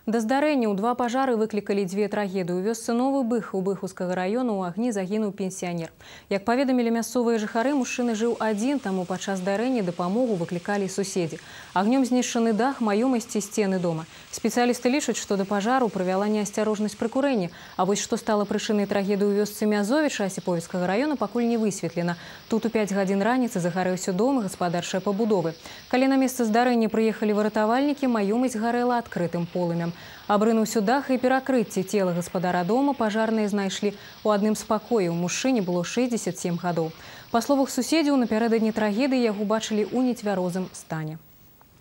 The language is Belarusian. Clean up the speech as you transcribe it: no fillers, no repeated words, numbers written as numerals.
Да здарэння ў два пажары выклікалі дзве трагедыі. У вёсцы Новы Бых у Быхаўскага району ў агні загінуў пенсіянер. Як паведамілі мясцовыя жыхары, мужчына жыў адзін, таму падчас здарэння дапамогу выклікалі суседзі. Агнём знішчаны дах, маёмасці, сцены дома. Спецыялісты лічаць, што да пажару прывяла неасцярожнасць пры курэнні. А вось што стала прычынай трагедыі ў вёсцы Мязовіча Асіповіцкага района, пакуль не высветлена. Тут у 5 гадзін раніцы загарэўся дом і гаспадарчыя пабудовы. Калі на месца здарэння прыехалі выратавальнікі, маёмасць гарэла адкрытым полымем. Абрынуўся дах і перакрыцці. Цела гаспадара дома пажарныя знайшлі ў адным з пакояў. Мужчыне было 67 гадоў. Па словах суседзяў, напярэдадні трагедыі яго бачылі ў нецвярозым стане.